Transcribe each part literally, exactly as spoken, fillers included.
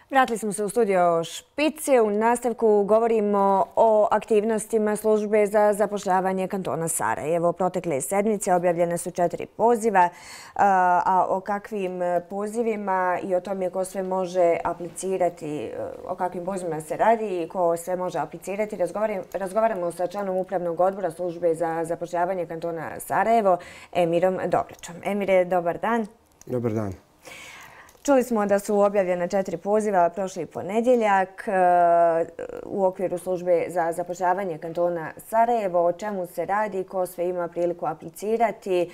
Vratili smo se u studio Špici. U nastavku govorimo o aktivnostima službe za zapošljavanje kantona Sarajevo. Protekle sedmice objavljene su četiri poziva, a o kakvim pozivima i o tome ko sve može aplicirati, o kakvim pozivima se radi i ko sve može aplicirati, razgovaramo sa članom upravnog odbora službe za zapošljavanje kantona Sarajevo, Emirom Dobrićom. Emire, dobar dan. Dobar dan. Čuli smo da su objavljena četiri poziva prošli ponedjeljak u okviru službe za zapošljavanje kantona Sarajevo. O čemu se radi, ko sve ima priliku aplicirati,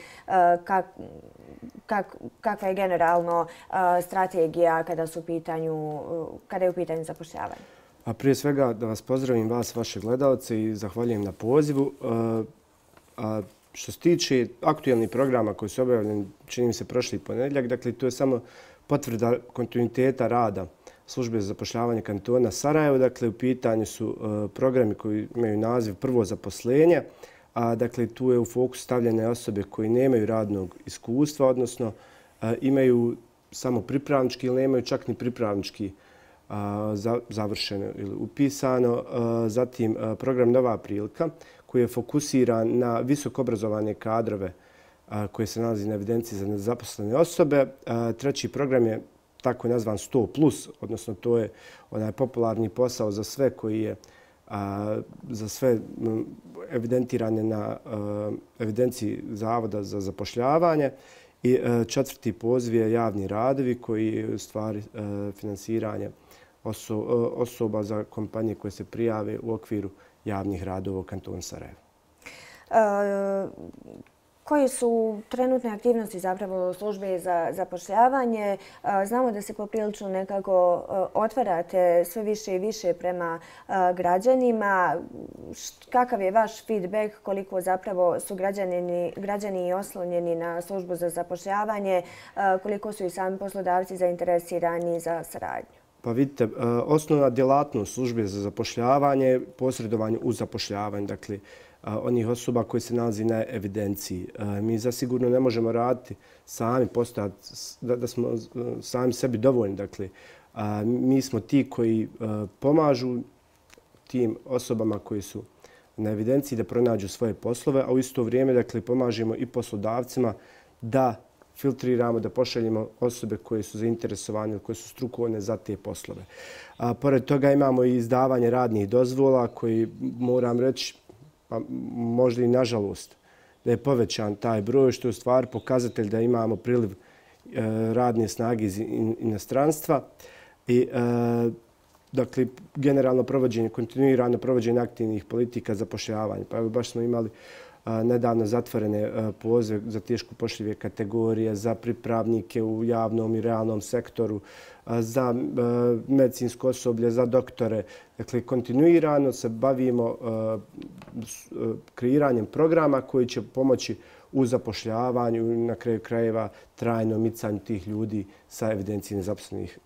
kakva je generalno strategija kada su u pitanju, kada je u pitanju zapošljavanje? A prije svega da vas pozdravim, vas, vaše gledalce, i zahvaljujem na pozivu. A što se tiče aktualnih programa koji su objavljeni, čini mi se prošli ponedjeljak, dakle to je samo potvrda kontinuiteta rada službe za zapošljavanje kantona Sarajevo. Dakle, u pitanju su programi koji imaju naziv Prvo zaposlenje. A, dakle, tu je u fokus stavljene osobe koji nemaju radnog iskustva, odnosno imaju samo pripravnički ili nemaju čak ni pripravnički završeno ili upisano. Zatim, program Nova prilika koji je fokusiran na visoko obrazovane kadrove koje se nalazi na evidenciji za nezaposlene osobe. Treći program je tako nazvan sto plus, odnosno to je onaj popularni posao za sve koji je za sve evidentirane na evidenciji Zavoda za zapošljavanje. I četvrti poziv je javni radovi koji je u stvari finansiranje osoba za kompanije koje se prijave u okviru javnih radova u kantonu Sarajevo. Koje su trenutne aktivnosti zapravo službe za zapošljavanje? Znamo da se poprilično nekako otvarate sve više i više prema građanima. Kakav je vaš feedback, koliko zapravo su građani oslonjeni na službu za zapošljavanje, koliko su i sami poslodavci zainteresirani za saradnju? Pa vidite, osnovna djelatnost službe za zapošljavanje je posredovanje u zapošljavanju, dakle, onih osoba koji se nalazi na evidenciji. Mi zasigurno ne možemo raditi sami, postojati da smo sami sebi dovoljni. Dakle, mi smo ti koji pomažu tim osobama koji su na evidenciji da pronađu svoje poslove, a u isto vrijeme, dakle, pomažemo i poslodavcima da filtriramo, da pošaljemo osobe koje su zainteresovane, koje su strukovne za te poslove. A, pored toga imamo i izdavanje radnih dozvola koji, moram reći, pa možda i nažalost, da je povećan taj broj, što je u stvari pokazatelj da imamo priliv e, radne snage iz inostranstva. I, e, dakle, generalno provođenje, kontinuirano provođenje aktivnih politika zapošljavanja. Pa evo, baš smo imali nedavno zatvorene pozive za teško upošljive kategorije, za pripravnike u javnom i realnom sektoru, za medicinsko osoblje, za doktore. Dakle, kontinuirano se bavimo kreiranjem programa koji će pomoći u zapošljavanju i na kraju krajeva trajnom micanju tih ljudi sa evidencije nezaposlenih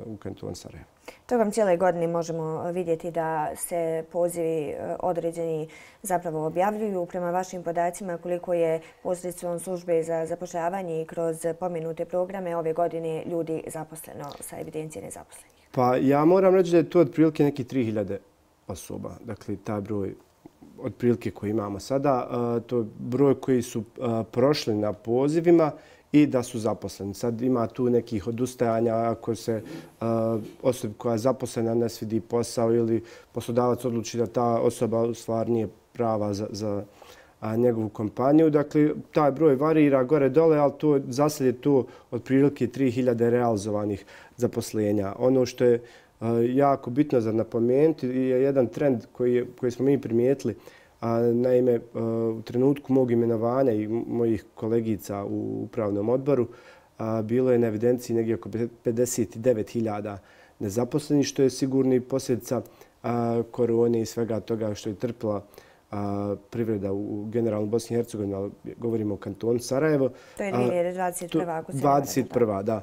u kantonu Sarajevo. Tokom cijele godine možemo vidjeti da se pozivi određeni zapravo objavljuju. Prema vašim podacima, koliko je posredstvom službe za zapošljavanje i kroz pomenute programe ove godine ljudi zaposleno sa evidencije nezaposlenih? Pa ja moram reći da je to otprilike neki tri hiljade osoba. Dakle, taj broj otprilike koji imamo sada, to je broj koji su prošli na pozivima i da su zaposleni. Sad ima tu nekih odustajanja ako se osoba koja je zaposlena ne svidi posao ili poslodavac odluči da ta osoba u stvari nije prava za, za njegovu kompaniju. Dakle, taj broj varira gore-dole, ali to, za sad je to otprilike tri hiljade realizovanih zaposlenja. Ono što je jako bitno za napomenuti je jedan trend koji, je, koji smo mi primijetili. Naime, u trenutku mog imenovanja i mojih kolegica u upravnom odboru bilo je na evidenciji negdje oko pedeset devet hiljada nezaposlenih, što je sigurno posljedica korone i svega toga što je trpila privreda u generalno Bosni i Hercegovini, ali govorimo o kantonu Sarajevo. To je dvije hiljade dvadeset prva. ako se dvadeset prva, da.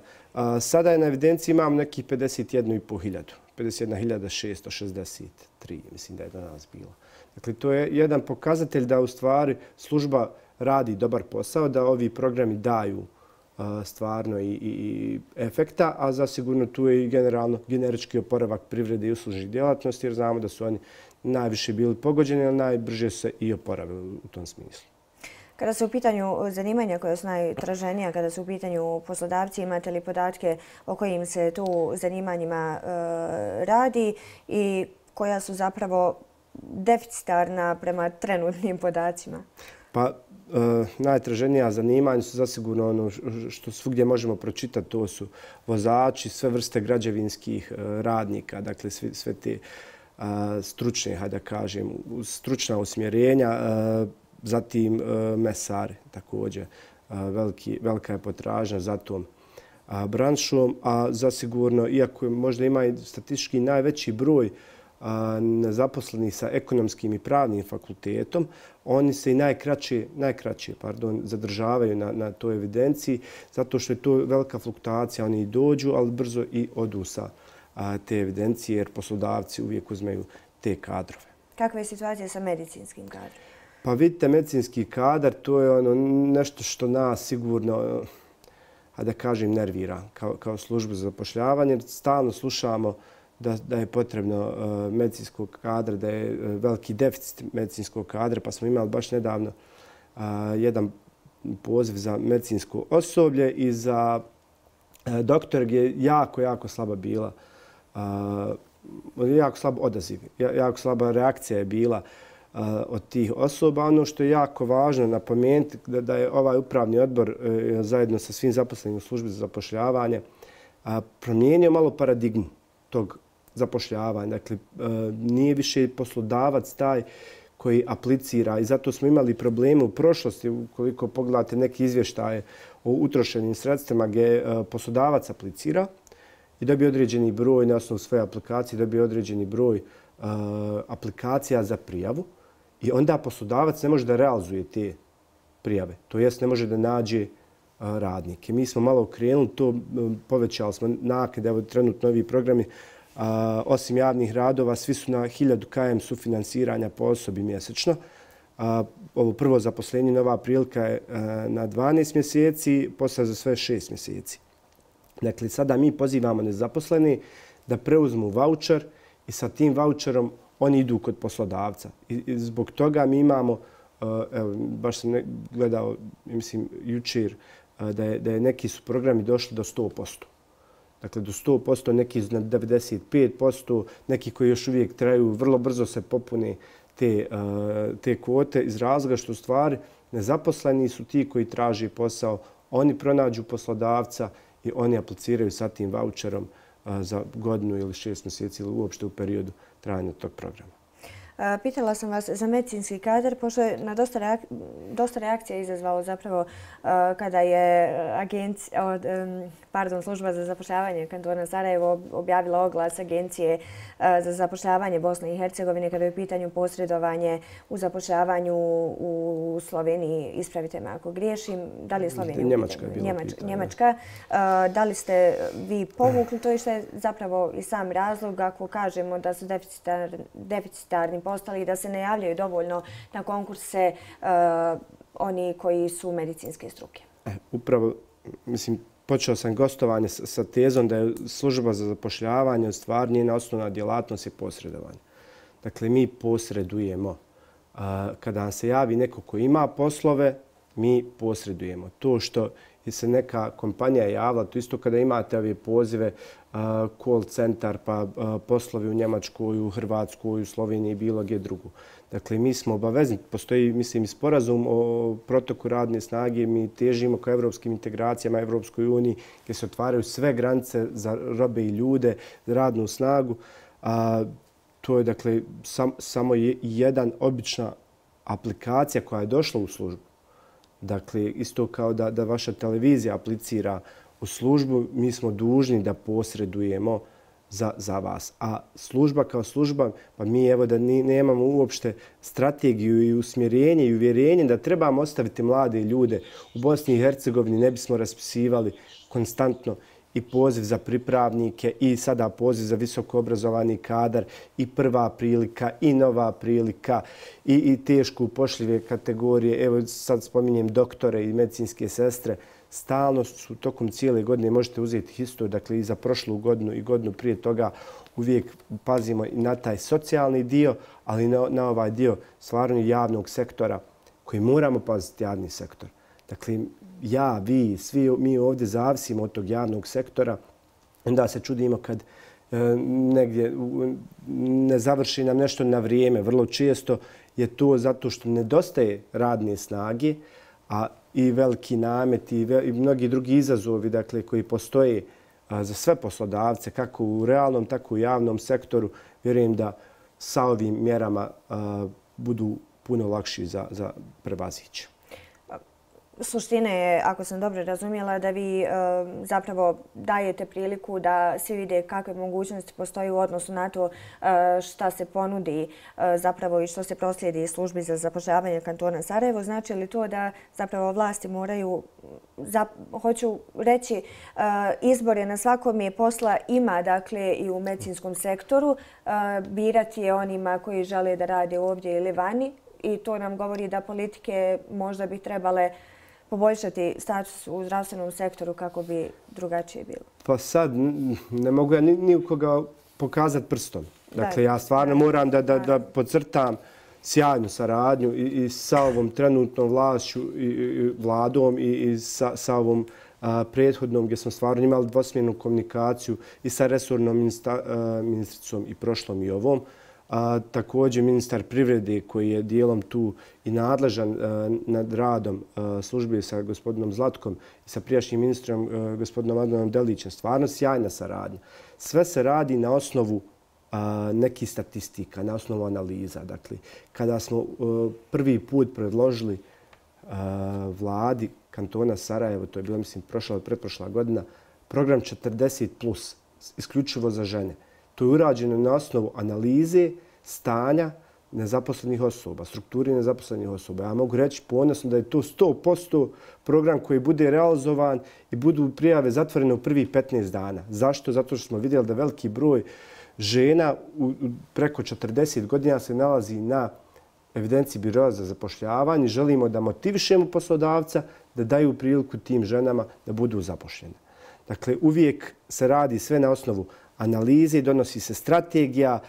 Sada je na evidenciji imam nekih pedeset jedna i pol hiljadu. pedeset jedna hiljada šesto šezdeset tri, mislim da je danas bilo. Dakle, to je jedan pokazatelj da u stvari služba radi dobar posao, da ovi programi daju stvarno i, i efekta, a zasigurno tu je i generalno generički oporavak privrede i uslužnih djelatnosti, jer znamo da su oni najviše bili pogođeni, ali najbrže se i oporavili u tom smislu. Kada su u pitanju zanimanja koja su najtraženija, kada su u pitanju poslodavci, imate li podatke o kojim se tu zanimanjima e, radi i koja su zapravo deficitarna prema trenutnim podacima? Pa, e, najtraženija zanimanja su zasigurno ono što svugdje možemo pročitati, to su vozači, sve vrste građevinskih e, radnika, dakle sve, sve te e, stručne, hajde da kažem, stručna usmjerenja, e, zatim e, mesari također. E, veliki, velika je potražnja za tom a, branšom, a zasigurno, iako možda ima i statistički najveći broj nezaposlenih sa ekonomskim i pravnim fakultetom, oni se i najkraće, najkraće pardon, zadržavaju na, na toj evidenciji, zato što je to velika fluktuacija. Oni i dođu, ali brzo i odu sa a, te evidencije, jer poslodavci uvijek uzmeju te kadrove. Kakva je situacija sa medicinskim kadrom? Pa vidite, medicinski kadar, to je ono nešto što nas sigurno, a da kažem, nervira kao, kao službu za zapošljavanje. Stalno slušamo Da, da je potrebno uh, medicinskog kadra, da je uh, veliki deficit medicinskog kadra, pa smo imali baš nedavno uh, jedan poziv za medicinsko osoblje i za uh, doktor gdje je jako, jako slaba bila, uh, jako slab odaziv, jako slaba reakcija je bila uh, od tih osoba. Ono što je jako važno napomenuti da, da je ovaj upravni odbor uh, zajedno sa svim zaposlenim u službi za zapošljavanje uh, promijenio malo paradigmu tog zapošljavanja. Dakle, nije više poslodavac taj koji aplicira i zato smo imali probleme u prošlosti. Ukoliko pogledate neki izvještaje o utrošenim sredstvima gdje poslodavac aplicira i dobije određeni broj na osnovu svoje aplikacije, dobije određeni broj aplikacija za prijavu i onda poslodavac ne može da realizuje te prijave. To jest ne može da nađe radnike. Mi smo malo okrenuli to, povećali smo naknade, evo trenutno ovi programi, a, osim javnih radova, svi su na hiljadu km sufinansiranja po osobi mjesečno. A, ovo prvo zaposlenje, nova prilika je a, na dvanaest mjeseci, posle za sve šest mjeseci. Dakle, sada mi pozivamo nezaposleni da preuzmu vaučer i sa tim vaučerom oni idu kod poslodavca. I, i zbog toga mi imamo, a, evo, baš sam ne, gledao, mislim, jučer, Da je, da je neki su programi došli do sto posto. Dakle, do sto posto, neki na devedeset pet posto, neki koji još uvijek traju, vrlo brzo se popune te, uh, te kvote iz razloga što u stvari nezaposleni su ti koji traži posao, oni pronađu poslodavca i oni apliciraju sa tim vaučerom uh, za godinu ili šest mjeseci ili uopšte u periodu trajanja tog programa. Pitala sam vas za medicinski kadar, pošto je na dosta, reak dosta reakcija izazvalo zapravo uh, kada je agencija, od, um, pardon, služba za zapošljavanje kantona Sarajevo objavila oglas agencije uh, za zapošljavanje Bosne i Hercegovine kada je u pitanju posredovanje u zapošljavanju u Sloveniji. Ispravite me ako griješim. Da li je Slovenija? Njemačka je bila Njemačka. pitanje. Njemačka. Uh, da li ste vi povukli to i što je zapravo i sam razlog ako kažemo da su deficitar, deficitarni postali i da se ne javljaju dovoljno na konkurse uh, oni koji su medicinske struke? E, upravo, mislim, počeo sam gostovanje sa, sa tezom da je služba za zapošljavanje u stvari njena osnovna djelatnost je posredovanje. Dakle, mi posredujemo. Uh, kada nam se javi neko ko ima poslove, mi posredujemo. To što je se neka kompanija javila, to isto kada imate ove pozive, uh, call centar, pa uh, poslovi u Njemačkoj, u Hrvatskoj, u Sloveniji i bilo gdje drugu. Dakle, mi smo obavezni, postoji, mislim, i sporazum o protoku radne snage, mi težimo ka evropskim integracijama, Evropskoj uniji, gdje se otvaraju sve granice za robe i ljude, za radnu snagu. A, to je, dakle, sam, samo je jedan obična aplikacija koja je došla u službu. Dakle, isto kao da, da vaša televizija aplicira u službu, mi smo dužni da posredujemo za, za vas. A služba kao služba, pa mi evo da ni, nemamo uopšte strategiju i usmjerenje i uvjerenje da trebamo ostaviti mlade ljude u Bosni i Hercegovini, ne bismo raspisivali konstantno i poziv za pripravnike i sada poziv za visoko obrazovani kadar i prva prilika i nova prilika i, i teško upošljive kategorije. Evo sad spominjem doktore i medicinske sestre. stalno su tokom cijele godine, možete uzeti historiju, dakle i za prošlu godinu i godinu prije toga, uvijek pazimo i na taj socijalni dio, ali i na, na ovaj dio stvarno javnog sektora koji moramo paziti javni sektor. Dakle, ja, vi, svi mi ovdje zavisimo od tog javnog sektora. Onda se čudimo kad e, negdje ne završi nam nešto na vrijeme. Vrlo često je to zato što nedostaje radne snage, a i veliki namet i, ve, i mnogi drugi izazovi, dakle, koji postoje a, za sve poslodavce, kako u realnom, tako i u javnom sektoru. Vjerujem da sa ovim mjerama a, budu puno lakši za, za prevazići. Suština je, ako sam dobro razumjela, da vi e, zapravo dajete priliku da svi vide kakve mogućnosti postoji u odnosu na to e, šta se ponudi e, zapravo i što se proslijedi službi za zapošljavanje kantona Sarajevo. Znači li to da zapravo vlasti moraju, za, hoću reći, e, izbore na svakom je posla ima, dakle, i u medicinskom sektoru. E, birati je onima koji žele da rade ovdje ili vani i to nam govori da politike možda bi trebale poboljšati status u zdravstvenom sektoru kako bi drugačije bilo? Pa sad ne mogu ja ni, ni u koga pokazati prstom. Dakle, ja stvarno moram da, da, da podcrtam sjajnu saradnju i, i sa ovom trenutnom vlašću i, i vladom i, i sa, sa ovom a, prethodnom gdje smo stvarno imali dvosmjernu komunikaciju i sa resornom ministra, a, ministricom i prošlom i ovom. A, također ministar privrede koji je dijelom tu i nadležan a, nad radom a, službe sa gospodinom Zlatkom i sa prijašnjim ministrom a, gospodinom Adnanom Delićem. Stvarno sjajna saradnja. Sve se radi na osnovu a, nekih statistika, na osnovu analiza. Dakle, kada smo a, prvi put predložili a, vladi kantona Sarajevo, to je bilo, mislim, prošla od pretprošla godina, program četrdeset plus, isključivo za žene. To je urađeno na osnovu analize stanja nezaposlenih osoba, strukturi nezaposlenih osoba. Ja mogu reći ponosno da je to sto posto program koji bude realizovan i budu prijave zatvorene u prvih petnaest dana. Zašto? Zato što smo vidjeli da veliki broj žena u preko četrdeset godina se nalazi na evidenciji Biroa za zapošljavanje. Želimo da motivišemo poslodavca da daju priliku tim ženama da budu zapošljene. Dakle, uvijek se radi sve na osnovu analize, donosi se strategija,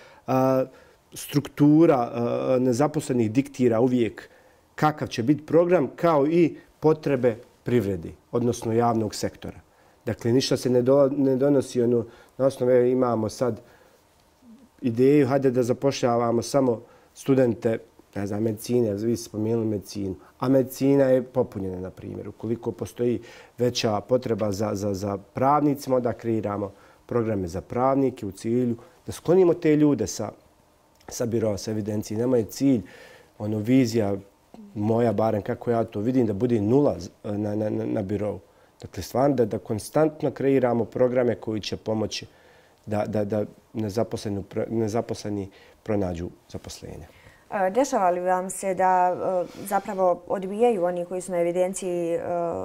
struktura nezaposlenih diktira uvijek kakav će biti program, kao i potrebe privrede, odnosno javnog sektora. Dakle, ništa se ne donosi ono, na osnovu imamo sad ideju, hajde da zapošljavamo samo studente, ne znam, medicine, vi ste spomenuli medicinu, a medicina je popunjena, na primjer. Ukoliko postoji veća potreba za, za, za pravnicima, da kreiramo programe za pravnike u cilju da sklonimo te ljude sa, sa biroa, sa evidencije. Nama je cilj, ono, vizija moja, barem kako ja to vidim, da bude nula na, na, na birovu. Dakle, stvarno da, da konstantno kreiramo programe koji će pomoći da, da, da nezaposleni, nezaposleni pronađu zaposlenje. Dešava li vam se da zapravo odbijaju oni koji su na evidenciji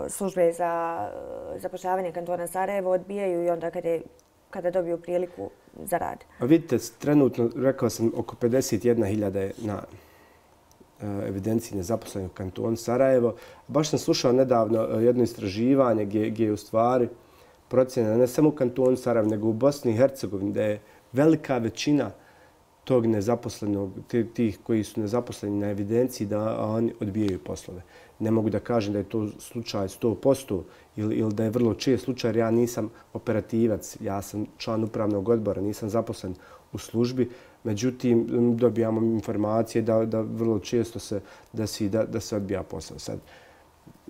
službe za zapošljavanje kantona Sarajevo, odbijaju i onda kada, kada dobiju priliku za rad? A vidite, trenutno, rekao sam, oko pedeset jedna hiljada je na evidenciji nezaposlenih u kantonu Sarajevo. Baš sam slušao nedavno jedno istraživanje gdje, gdje je u stvari procjena ne samo u kantonu Sarajevo, nego u Bosni i Hercegovini, da je velika većina tog nezaposlenog, tih koji su nezaposleni na evidenciji, da oni odbijaju poslove. Ne mogu da kažem da je to slučaj sto posto ili, ili da je vrlo čest slučaj, jer ja nisam operativac, ja sam član upravnog odbora, nisam zaposlen u službi. Međutim, dobijamo informacije da, da vrlo često se desi da, da se odbija posao. Sad,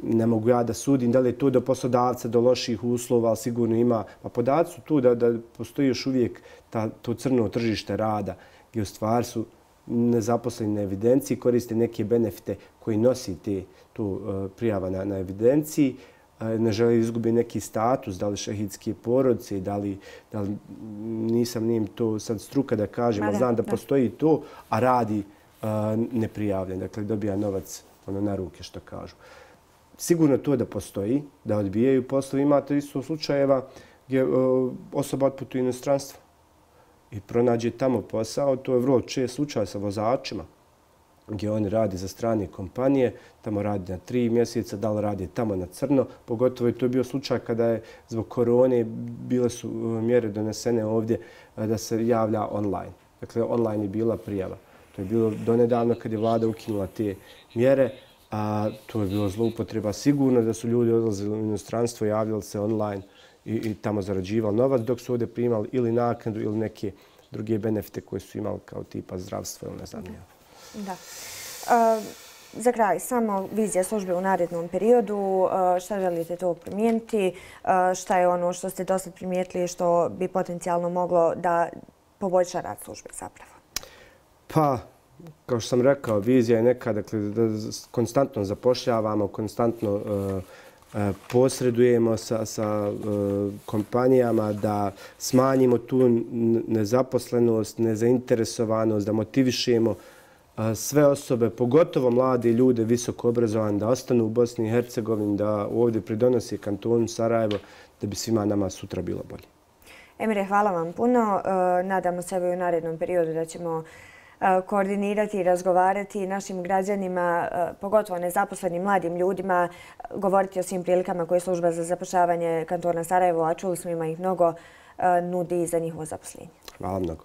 ne mogu ja da sudim da li je to do poslodavca, do loših uslova, ali sigurno ima. Pa podaci su tu da, da postoji još uvijek ta, to crno tržište rada, gdje u stvari su nezaposleni na evidenciji, koriste neke benefite koji nosi te, tu uh, prijava na, na evidenciji, uh, ne žele izgubiti neki status, da li šehidske porodice, da li, da li nisam njim to sad struka da kažem, ali znam da postoji to, a radi uh, neprijavljen, dakle dobija novac ono, na ruke, što kažu. Sigurno to da postoji, da odbijaju poslovi. Imate isto slučajeva gdje uh, osoba otputuje u inostranstvo i pronađe tamo posao. To je vrlo čest slučaj sa vozačima. gdje oni radi za strane kompanije, tamo radi na tri mjeseca, da li radi tamo na crno. Pogotovo je to bio slučaj kada je zbog korone bile su mjere donesene ovdje da se javlja online. Dakle, online je bila prijava. To je bilo donedavno kad je vlada ukinula te mjere, a to je bilo zloupotreba. Sigurno da su ljudi odlazili u inostranstvo, javljali se online i, i tamo zarađivali novac, dok su ovdje primali ili naknadu ili neke druge benefite koje su imali kao tipa zdravstvo ili ne znam ja. Da. Uh, za kraj, samo vizija službe u narednom periodu. Uh, šta želite to promijeniti? Uh, šta je ono što ste dosta primijetili što bi potencijalno moglo da poboljša rad službe zapravo? Pa, kao što sam rekao, vizija je neka, dakle, da konstantno zapošljavamo, konstantno uh, uh, posredujemo sa, sa uh, kompanijama, da smanjimo tu nezaposlenost, nezainteresovanost, da motivišemo sve osobe, pogotovo mlade ljude, visoko obrazovane, da ostanu u Bosni i Hercegovini, da ovdje pridonosi kantonu Sarajevo, da bi svima nama sutra bilo bolje. Emire, hvala vam puno. Nadamo se u narednom periodu da ćemo koordinirati i razgovarati našim građanima, pogotovo nezaposlenim mladim ljudima, govoriti o svim prilikama koje služba za zapošljavanje kantona Sarajevo, a čuli smo ima ih mnogo, nudi za njihovo zaposlenje. Hvala mnogo.